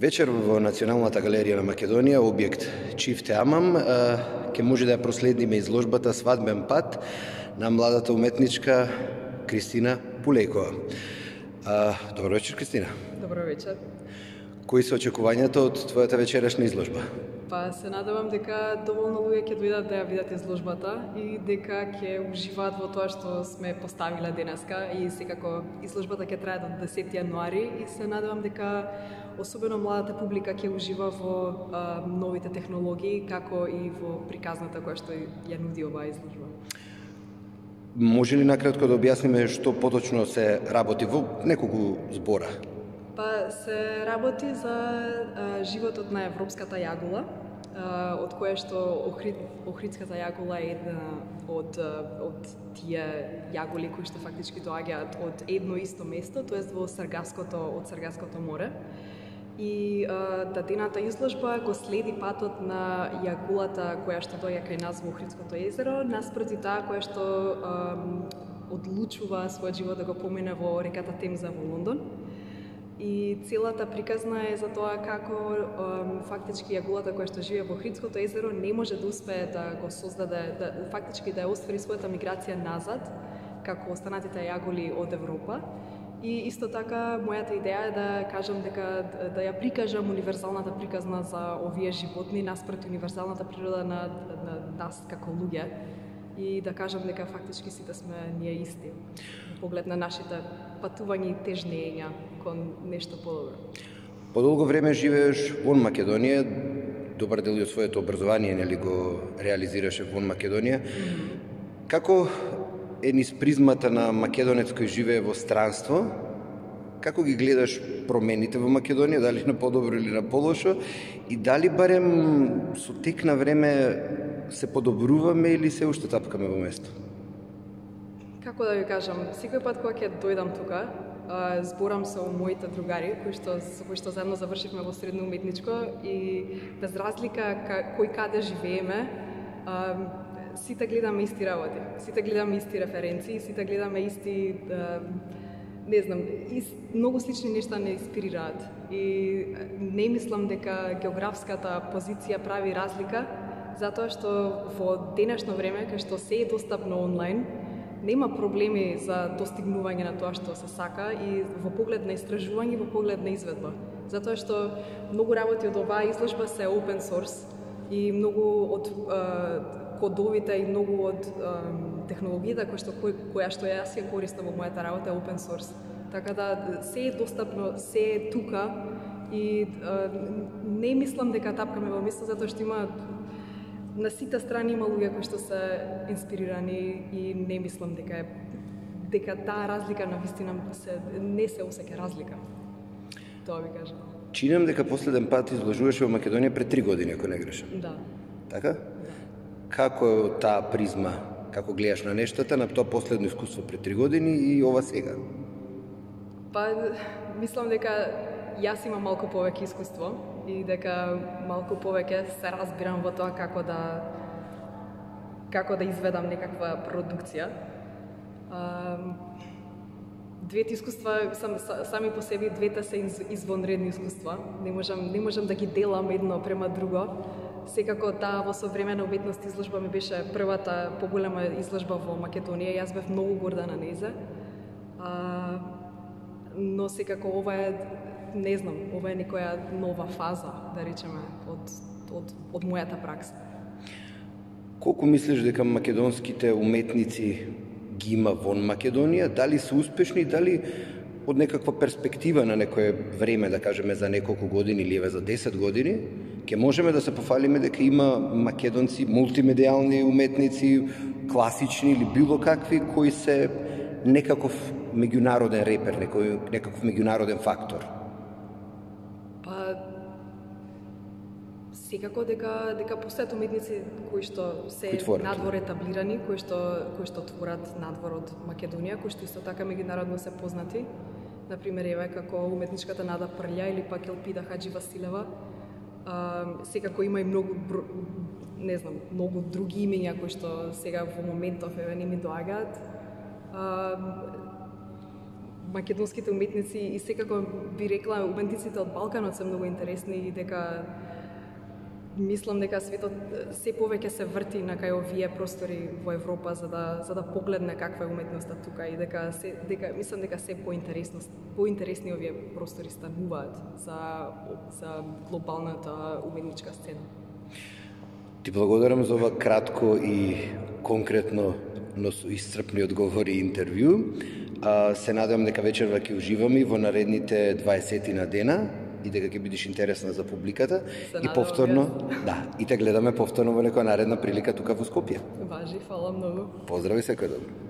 Вечер во Националната галерија на Македонија, објект Чифте Амам, ќе може да ја проследиме изложбата Свадбен пат на младата уметничка Кристина Пулејкова. Добро вечер, Кристина. Добро вечер. Кои се очекувањата од твојата вечерашна изложба? Па се надевам дека доволно луѓе ќе дојдат да ја видат изложбата и дека ќе уживаат во тоа што сме поставиле денеска, и секако изложбата ќе трае до 10 јануари и се надевам дека особено младата публика ќе ужива во новите технологии, како и во приказната која што ја нуди оваа изложба. Може ли накратко да објасниме што поточно се работи во неколку збора? Па се работи за животот на европската јагула, од која што охридската јагула е една од тие јагули кои што фактички доаѓаат од едно исто место, тоест од Саргаското море. И дадената изложба го следи патот на јагулата која што доаѓа кај нас во Охридското езеро, наспроти таа која што одлучува својот живот да го помине во реката Темза во Лондон. И целата приказна е за тоа како фактички јагулата која што живее во Охридското езеро не може да успее да го создаде, фактички да ја оствари својата миграција назад, како останатите јагули од Европа. И исто така, мојата идеја е да кажам дека да ја прикажам универзалната приказна за овие животни наспроти универзалната природа на нас како луѓе, и да кажам дека фактички сите сме ние исти во поглед на нашите патувања и тежнења кон нешто подобро. Подолго време живееш вон Македонија, добар дел од своето образование нели го реализираше вон Македонија. Како е низ призмата на македонец кој живее во странство, како ги гледаш промените во Македонија, дали на подобро или на полошо, и дали барем со тек на време се подобруваме или се уште тапкаме во место? Како да ви кажам, секој пат кога ќе дојдам тука, зборам со моите другари со кои што заедно завршивме во средно уметничко, и без разлика кој каде живееме, сите гледаме исти работи, сите гледаме исти референции, сите гледаме исти, не знам, многу слични нешта не инспирираат. И не мислам дека географската позиција прави разлика, затоа што во денешно време, кај што се е достапно онлайн, нема проблеми за достигнување на тоа што се сака и во поглед на истражување, во поглед на изведба. Затоа што многу работи од оваа изложба се open source и многу од кодовите и многу од технологијата која што јас ја користам во мојата работа е open source. Така да се е достапно, се е тука и не мислам дека тапкаме во место, затоа што има на сите страни има луѓе кои што се инспирирани и не мислам дека таа разлика на вистина не се осеќа разлика. Тоа ви кажам. Чинам дека последен пат изложуваше во Македонија пред 3 години, ако не грешам. Да. Така? Да. Како е таа призма, како гледаш на нештата, на тоа последно искуство пред 3 години и ова сега? Па, мислам дека јас имам малку повеќе искуство и дека малку повеќе се разбирам во тоа како да изведам некаква продукција. Двете искуства сами по себе, двете се извонредни искуства. Не можам да ги делам едно према друго. Секако таа во современа уметност изложба ми беше првата поголема изложба во Македонија. Јас бев многу горда на нејзе. Но секако ова е, не знам, ова е некоја нова фаза, да речеме, од мојата пракса. Колку мислиш дека македонските уметници ги има вон Македонија? Дали се успешни, дали од некаква перспектива на некое време, да кажеме за неколку години или за 10 години, ќе можеме да се пофалиме дека има македонци, мултимедијални уметници, класични или било какви, кои се некаков меѓународен репер, некаков меѓународен фактор? Па, секако дека постојат уметници кои што се надвор етаблирани, кои што творат надвор од Македонија, кои што исто така меѓународно се познати. Например, еве како уметничката Нада Прља или пак Елпида Хаџи Василева. Секако има и многу други имења кои што сега во моментов еве не ми доаѓаат. македонските уметници и секако би рекла уметниците од Балканот се многу интересни и дека мислам дека светот се повеќе се врти на кај овие простори во Европа за да погледне каква е уметноста тука и дека мислам дека се поинтересни овие простори стануваат за глобалната уметничка сцена. Ти благодарам за ова кратко и конкретно, но со исцрпни одговори и интервју. Се надевам дека вечерва ќе уживаме во наредните 20 на дена и дека ќе бидеш интересна за публиката и повторно, и те гледаме повторно во некоја наредна прилика тука во Скопје. Важи, фала многу. Поздрави, секој добро.